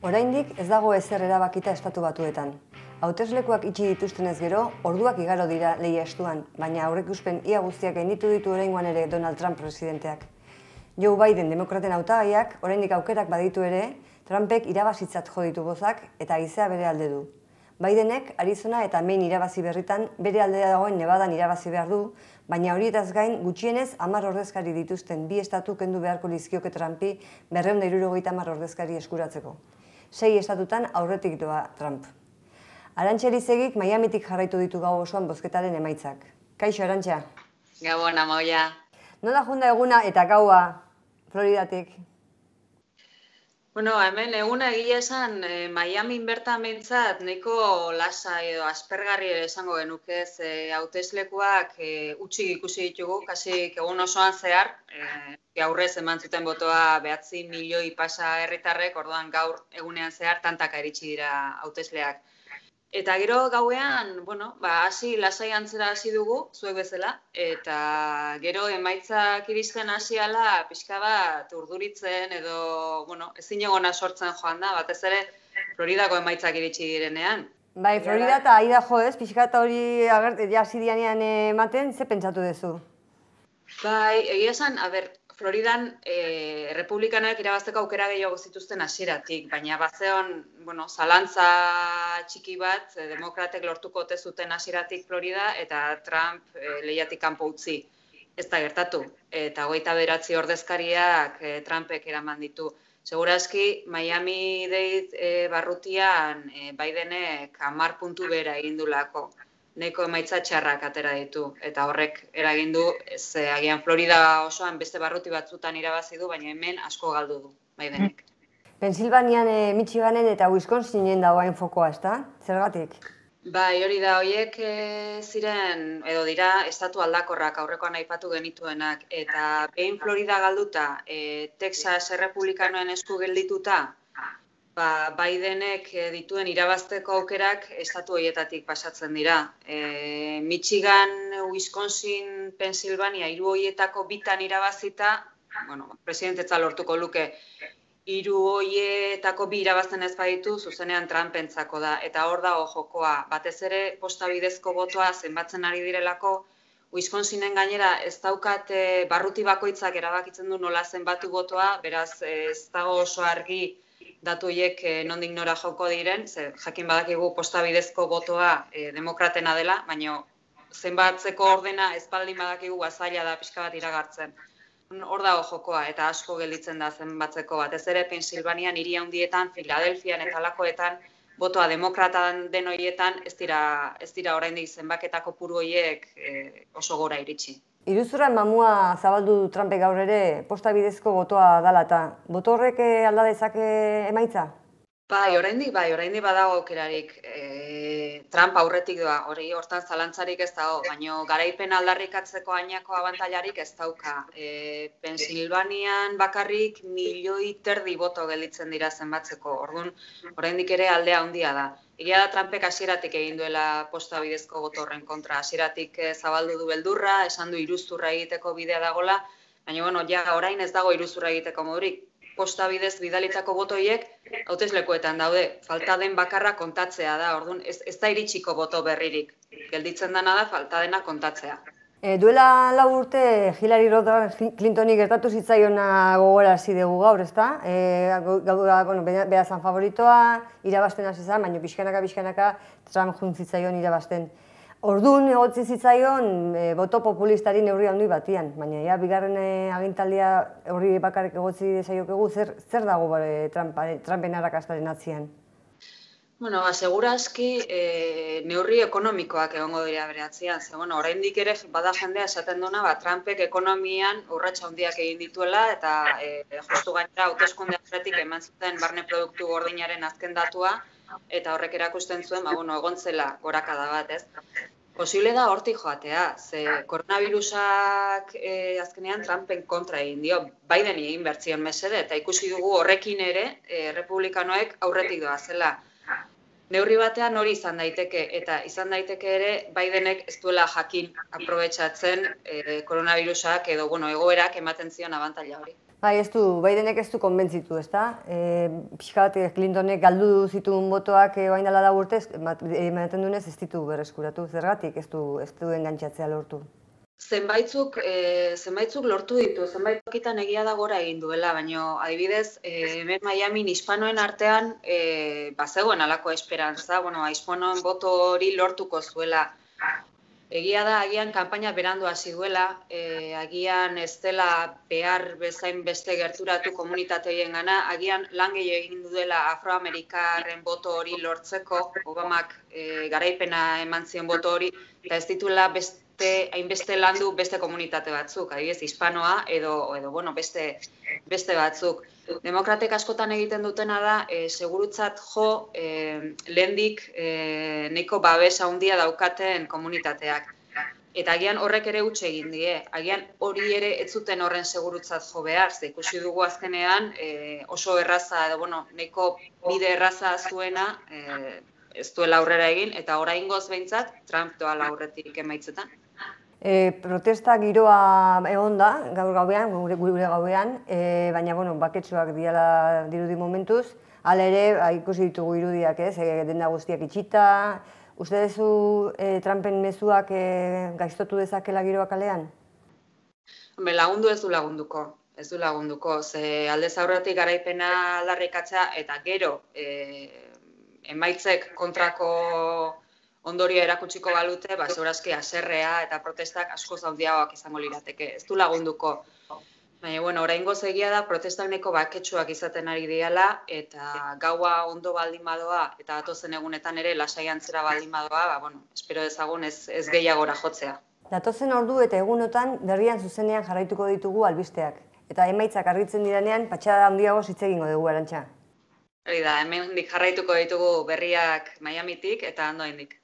Oraindik ez dago ezer erabakita Estatu Batuetan. Hauteslekuak itxi dituztenez gero, orduak igaro dira lehia estuan, baina aurreikuspen ia guztiak gainditu ditu oraingoan ere Donald Trump presidenteak. Joe Biden demokraten hautagaiak oraindik aukerak baditu ere, Trumpek irabazitzat jo ditu bozak eta haizea bere alde du. Bidenek Arizona eta Maine irabazi berritan bere aldea dagoen Nevadan irabazi behar du, baina horietaz gain gutxienez 10 ordezkari dituzten bi estatu kendu beharko lizkioke Trumpi 270 ordezkari eskuratzeko. 6 estatutan aurretik doa Trump. Arantxa Elizegik Miamitik jarraitu ditu gau osoan bozketaren emaitzak. Kaixo, Arantxa? Gabon, Amaia. Nola junda eguna eta gaua Floridatik? Bueno, hemen eguna egia esan Miamin bertan behintzat nahiko lasa edo aspergarri ere esango genuke, hauteslekuak utzi ikusi ditugu, kasik egun osoan zehar, gaurrez eman zuten botoa 9 milioi pasa herritarrek, orduan gaur egunean zehar tantaka iritsi dira hautesleak. Eta gero gauean, hasi lasai antzera hasi dugu, zuek bezala, eta gero emaitzak iristen hasiala pixka bat urduritzen edo, ezin egona sortzen joan da, batez ere Floridako emaitzak iritsi direnean. Bai, Florida eta Idaho ez, pixka eta hori hasi dianean ematen, ze pentsatu duzu? Bai, egia esan, Floridan republikanoek irabazteko aukera gehiago zituzten hasieratik, baina bazeon, zalantza txiki bat, demokratek lortuko ote zuten hasieratik Florida eta Trump lehiatik kanpo utzi. Ez da gertatu, eta 29 ordezkariak Trumpek eraman ditu. Segurazki, Miami-Dade barrutian Bidenek 10 puntu bera egin dulako. Nahiko emaitza txarrak atera ditu, eta horrek eragin du, agian Florida osoan beste barruti batzutan irabazi du, baina hemen asko galdu du, Bidenek. Pensilvanian, Michiganen eta Wisconsinen dagoen fokoa, ezta? Zergatik? Bai, hori da, horiek ziren, edo dira, estatu aldakorrak aurrekoan aipatu genituenak, eta behin Florida galduta, Texas errepublikanoen esku geldituta, Bidenek dituen irabazteko aukerak estatu horietatik pasatzen dira. Michigan, Wisconsin, Pensilvania, 3 horietako bitan irabazita, presidentetza lortuko luke, 3 horietako 2 irabazten ez baditu, zuzenean Trumpentzako da. Eta hor dago jokoa, batez ere posta bidezko botoa zenbatzen ari direlako, Wisconsinen gainera ez daukat barruti bakoitzak erabakitzen du nola zenbatu botoa, beraz ez dago oso argi datu horiek nondik nora joko diren, jakin badakigu posta bidezko botoa demokratena dela, baina zenbatzeko ordena ez baldin badakigu zaila da pixka bat iragartzen. Hor dago jokoa eta asko gelditzen da zenbatzeko, batez ere Pensilvanian hiri handietan, Filadelfian eta halakoetan, botoa demokratan den horietan ez dira oraindik zenbaketako kopuru horiek oso gora iritsi. Iruzurran mamua zabaldu du Trumpek gaur ere posta bidezko botoa dala eta boto horrek alda dezake emaitza? Bai, oraindik badago aukerarik. Trump aurretik doa, hori hortan zalantzarik ez dago, baina garaipen aldarrikatzeko ainako abantailarik ez dauka. Pensilvanian bakarrik 1,5 milioi boto gelditzen dira zenbatzeko, orduan oraindik ere aldea handia da. Egia da Trumpek hasieratik egin duela posta bidezko boto horren kontra, hasieratik zabaldu du beldurra, esan du iruzurra egiteko bidea dagola, baina orain ez dago iruzurra egiteko modurik. Posta bidez bidalitako botoiek hauteslekuetan daude, falta den bakarra kontatzea da, orduan ez da iritsiko boto berririk. Gelditzen dena da falta dena kontatzea. Duela 4 urte Hillary Clintoni gertatu zitzaiona gogorarazi dugu gaur, ezta? Bera zan favoritoa, irabazten hasi zen, baina pixkanaka Trump jun zitzaion irabazten. Orduan egotzi zitzaion boto populistari neurri handi batian, baina bigarren agintaldia horri bakarrik egotzi desaiokegu, zer dago Trumpen arrakastaren atzian? Segurazki neurri ekonomikoak egongo dira bere atzian. Oraindik ere bada jendea esaten duena, Trumpek ekonomian urrats handiak egin dituela eta justu gainera hauteskunde aurretik eman zuten barne produktu gordinaren azken datua eta horrek erakusten zuen, egon zela gorakada bat, ez? Posible da hortik joatea, ze koronavirusak azkenean Trumpen kontra egin dio, Bideni egin bertzion mesede, eta ikusi dugu horrekin ere republikanoek aurretik doa zela. Neurri batean hori izan daiteke, eta izan daiteke ere Bidenek ez duela jakin aprobetxatzen koronavirusak edo egoerak ematen zion abantaila hori. Bai, Bidenek ez du konbentzitu, ezta? Pixka bat Clintonek galdu zituen botoak orain dela 4 urtez, ematen duenez ez ditu berreskuratu. Zergatik ez du engantzatzea lortu? Zenbaitzuk lortu ditu, zenbait tokitan egia da gora egin duela, baina adibidez, hemen Miamin hispanoen artean bazegoen halako esperantza, hispanoen boto hori lortuko zuela. Egia da, agian kanpaina berandu hasi duela, agian ez dela behar bezain beste gerturatu komunitate horiengana, agian lan gehiago egin duela afroamerikarren boto hori lortzeko, Obamak garaipena eman zion boto hori, eta ez dituela hainbeste landu beste komunitate batzuk, adibidez hispanoa edo beste batzuk. Demokratek askotan egiten dutena da, segurutzat jo, lehendik nahiko babes handia daukaten komunitateak. Eta agian horrek ere huts egin die, agian hori ere ez zuten horren segurutzat jo behar, ze ikusi dugu azkenean oso erraza, edo nahiko bide erraza zuena ez duela aurrera egin, eta oraingoz behintzat Trump doala aurretik emaitzetan. Protesta giroa egon da, gaur gauean, gure gauean, baina baketsuak diala dirudi momentuz, hala ere ikusi ditugu irudiak, denda guztiak itxita. Uste duzu Trumpen mezuak gaiztotu dezakela giroa kalean? Lagundu ez du lagunduko, ze aldez aurretik garaipena aldarrikatzea eta gero emaitzek kontrako ondorio erakutsiko balute, segurazki haserrea eta protestak asko handiagoak izango lirateke. Ez du lagunduko. Baina, oraingoz egia da, protestak nahiko baketsuak izaten ari diala, eta gaua ondo baldin badoa, eta datozen egunetan ere lasai antzera baldin badoa, espero dezagun ez gehiagora jotzea. Datozen ordu eta egunotan berrian zuzenean jarraituko ditugu albisteak. Eta emaitzak argitzen direnean, patxada handiago hitz egingo dugu, Arantxa. Hori da, hemendik jarraituko ditugu berriak Miamitik eta Andoaindik.